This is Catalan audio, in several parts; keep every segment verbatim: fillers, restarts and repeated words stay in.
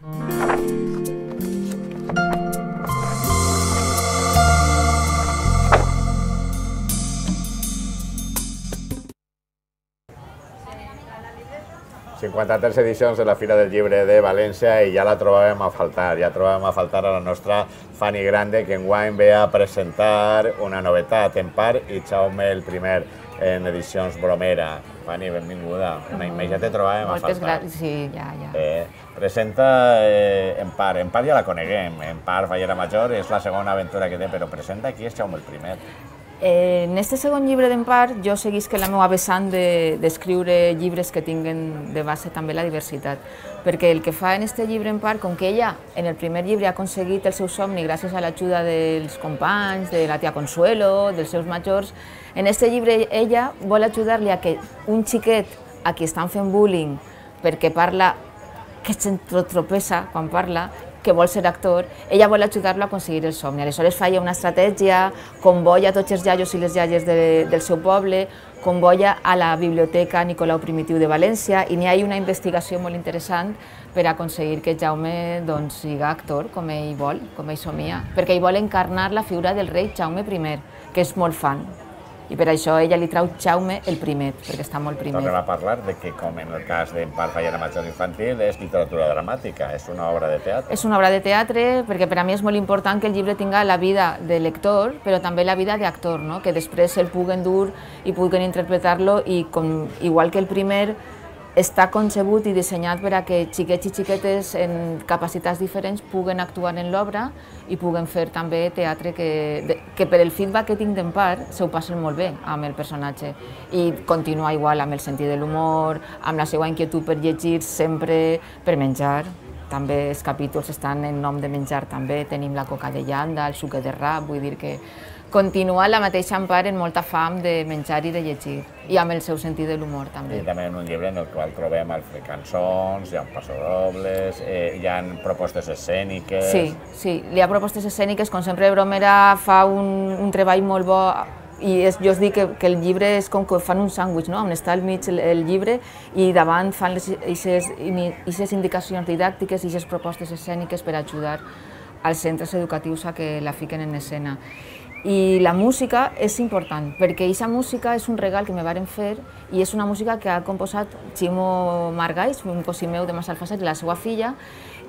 cinquanta-tres edicions de la Fira del Llibre de València i ja la trobàvem a faltar, ja trobàvem a faltar a la nostra Fanny Grande, que enguany ve a presentar una novetat, En part i Jaume el primer en edicions Bromera. Fanny, benvinguda. Mai ja te trobàvem a faltar. Moltes gràcies, sí, ja, ja. Eh, presenta eh, En part, En part ja la coneguem, En part Fallera Major és la segona aventura que té, però presenta qui és Jaume el primer. Eh, en este segon llibre d'en part jo seguisc la meva vessant d'escriure llibres que tinguen de base també la diversitat, perquè el que fa en este llibre en part, com que ella en el primer llibre ha aconseguit el seu somni gràcies a l'ajuda dels companys, de la tia Consuelo, dels seus majors, en este llibre ella vol ajudar-li a que un xiquet a qui estan fent bullying perquè parla, que s'entropessa quan parla, que vol ser actor, ella vol ajudar-lo a aconseguir el somni. Aleshores fa una estratègia, convoia tots els iaios i les iaies de, del seu poble, convoia a la Biblioteca Nicolau Primitiu de València i n'hi ha una investigació molt interessant per aconseguir que Jaume doncs, siga actor com ell vol, com ell somia, perquè ell vol encarnar la figura del rei Jaume primer, que és molt fan. I per això ella li trau Jaume el primer, perquè està molt primer. Tornem a parlar de que, com en el cas d'en part Fallera Major infantil, és literatura dramàtica, és una obra de teatre. És una obra de teatre, perquè per a mi és molt important que el llibre tinga la vida de lector, però també la vida d'actor, no? Que després el puguen dur i puguen interpretar-lo, i com, igual que el primer, està concebut i dissenyat per a que xiquets i xiquetes en capacitats diferents puguen actuar en l'obra i puguen fer també teatre que, que per el feedback que tinc d'en part s'ho passen molt bé amb el personatge i continua igual amb el sentit de l'humor, amb la seva inquietud per llegir sempre, per menjar. També els capítols estan en nom de menjar, també tenim la coca de llanda, el sucre de rap, vull dir que continua la mateixa en part en molta fam de menjar i de llegir, i amb el seu sentit de l'humor també. I també en un llibre en el qual trobem cançons, hi ha passadobles, eh, hi ha propostes escèniques... Sí, sí, hi ha propostes escèniques, com sempre Bromera fa un, un treball molt bo, i és, jo us dic que, que el llibre és com que fan un sàndwich, no? On està al mig el, el llibre i davant fan aquestes indicacions didàctiques i aquestes propostes escèniques per ajudar als centres educatius a que la fiquen en escena. I la música és important, perquè aquesta música és un regal que me varen fer i és una música que ha composat Ximo Margalls, un cosí meu de Massalfassar, i la seva filla,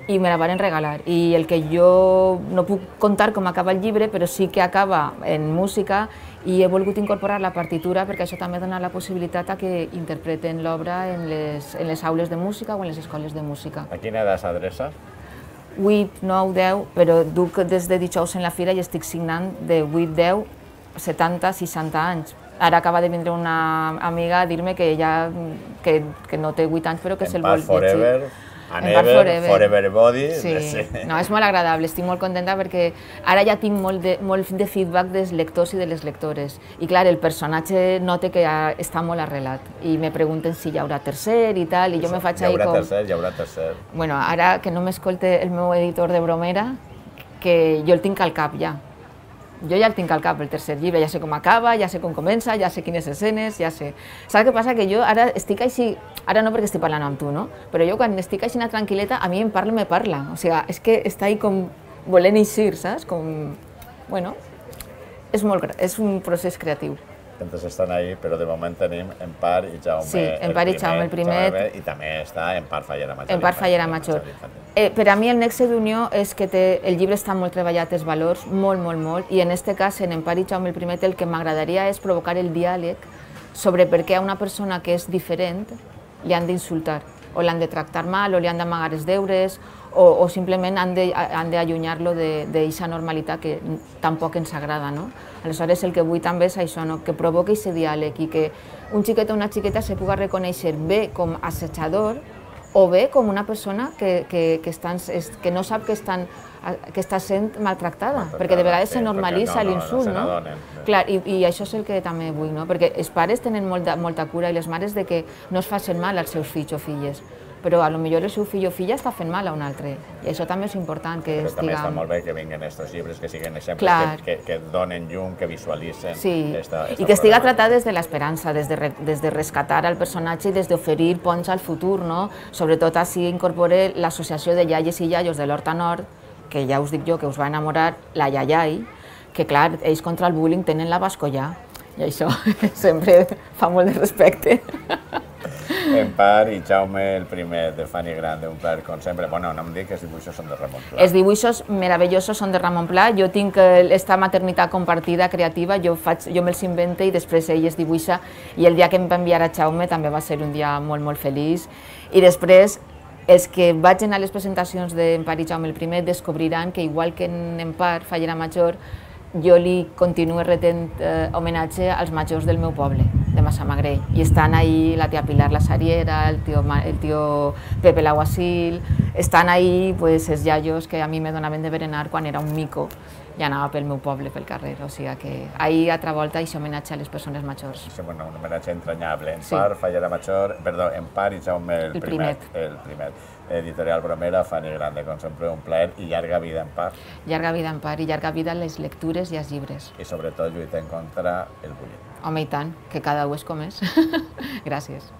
i me la varen regalar. I el que jo no puc contar com acaba el llibre, però sí que acaba en música i he volgut incorporar la partitura perquè això també dona la possibilitat a que interpreten l'obra en les, en les aules de música o en les escoles de música. A quina edat s'adreça? vuit, nou, deu, però duc des de dijous en la fira i estic signant de vuit, deu, setanta, seixanta anys. Ara acaba de vindre una amiga a dir-me que ella que, que no té vuit anys però que se'l vol llegir. En Ever, Forever Body. Sí, no, és molt agradable, estic molt contenta perquè ara ja tinc molt de, molt de feedback dels lectors i de les lectores. I clar, el personatge note que ja està molt arrelat i me pregunten si hi haurà tercer i tal, i jo me faig ahí com... Hi haurà tercer, hi haurà tercer. Bueno, ara que no m'escolte el meu editor de Bromera, que jo el tinc al cap ja. Jo ja el tinc al cap, el tercer llibre, ja sé com acaba, ja sé com comença, ja sé quines escenes, ja sé... Saps què passa? Que jo ara estic així, ara no perquè estic parlant amb tu, no? Però jo quan estic així tranquil·leta, a mi em parla, me parla. O sigui, és que està ahí com volent eixir, saps? Com... Bueno, és, molt, és un procés creatiu. Tantes estan ahí, però de moment tenim En part i Jaume sí, En part i Jaume el primer. I també està En part Fallera Major. En part Fallera Major. Eh, per a mi el nexe d'unió és que té, el llibre està molt treballat, els valors, molt, molt, molt, i en aquest cas, en En part i Jaume el primer, el que m'agradaria és provocar el diàleg sobre per què a una persona que és diferent li han d'insultar, o l'han de tractar mal, o li han d'amagar els deures, o, o simplement han d'allunyar-lo d'aquesta normalitat que tampoc ens agrada, no? Aleshores, el que vull també és això, no? Que provoqui aquest diàleg i que un xiquet o una xiqueta se pugui reconèixer bé com assetjador o bé com una persona que, que, que, estan, que no sap que, estan, que està sent maltractada, perquè de vegades se normalitza l'insult, no? Clar, i, i això és el que també vull, no? Perquè els pares tenen molta, molta cura i les mares de que no es facin mal als seus fills o filles, però a lo millor el seu fill o filla està fent mal a un altre, i això també és important que però estiguem... també està molt bé que vinguin aquests llibres, que siguin exemples, Clar. que, que, que donen llum, que visualitzen Sí, esta, esta i que estiga problemàtica. tratat des de l'esperança, des, de, des de rescatar al personatge i des d'oferir ponts al futur, no? Sobretot així incorpore l'associació de iaies i iaios de l'Horta Nord, que ja us dic jo que us va enamorar, la Iaiai, que clar, ells contra el bullying tenen la Bascollà, i això sempre fa molt de respecte. Empar i Jaume el primer, de Fanny Grande, un plaer com sempre. Bueno, no em dic que els dibuixos són de Ramon Pla. Els dibuixos meravellosos són de Ramon Pla. Jo tinc aquesta maternitat compartida creativa, jo, faig, jo me'ls invente i després ell es dibuixa, i el dia que em va enviar a Jaume també va ser un dia molt, molt feliç. I després, els que vagin a les presentacions d'Empar i Jaume el primer descobriran que, igual que en Empar, Fallera Major, jo li continuo retent eh, homenatge als majors del meu poble, de Massamagrell. I estan ahí la tia Pilar la Sariera, el tio, el tio Pepe l'Aguasil, estan ahí pues, els iaios que a mi me donaven de berenar quan era un mico i anava pel meu poble, pel carrer. O sigui que ahí, altra volta, això homenatge a les persones majors. Sí, bueno, un homenatge entranyable. Empar, sí. Fallera Major, perdó, Empar i Jaume el, el primer. primet. El primer. Editorial Bromera, Fanny Grande, com sempre un plaer i llarga vida Empar. Llarga vida Empar i llarga vida les lectures i els llibres. I sobretot lluitem contra el bullying. Home, i tant, que cada u és com és. Gràcies.